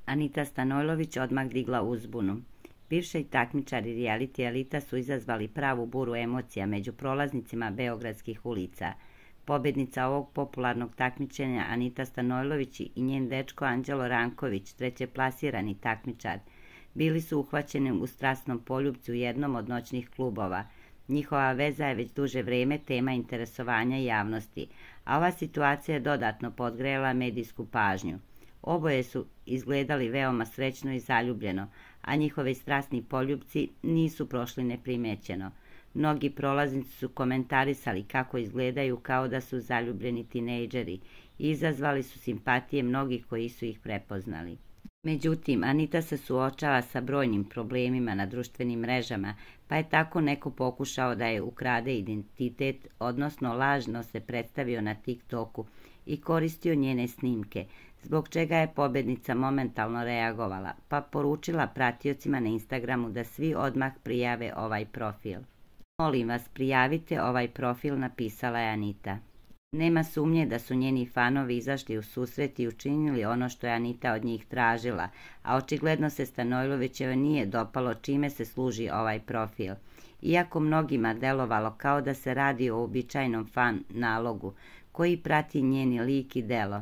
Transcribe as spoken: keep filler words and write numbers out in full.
Anita Stanojlović odmah digla uzbunu. Bivši takmičari reality elita su izazvali pravu buru emocija među prolaznicima beogradskih ulica. Pobednica ovog popularnog takmičenja Anita Stanojlović i njen dečko Anđelo Ranković, trećeplasirani takmičar, bili su uhvaćeni u strasnom poljupcu u jednom od noćnih klubova. Njihova veza je već duže vreme tema interesovanja javnosti, a ova situacija je dodatno podgrela medijsku pažnju. Oboje su izgledali veoma srećno i zaljubljeno, a njihovi strasni poljupci nisu prošli neprimećeno. Mnogi prolaznici su komentarisali kako izgledaju kao da su zaljubljeni tinejdžeri i izazvali su simpatije mnogih koji su ih prepoznali. Međutim, Anita se suočava sa brojnim problemima na društvenim mrežama, pa je tako neko pokušao da je ukrade identitet, odnosno lažno se predstavio na TikToku i koristio njene snimke, zbog čega je pobednica momentalno reagovala, pa poručila pratiocima na Instagramu da svi odmah prijave ovaj profil. Molim vas, prijavite ovaj profil, napisala je Anita. Nema sumnje da su njeni fanovi izašli u susret i učinili ono što je Anita od njih tražila, a očigledno se Stanojlovićeva nije dopalo čime se služi ovaj profil. Iako mnogima delovalo kao da se radi o uobičajenom fan nalogu koji prati njeni lik i delo,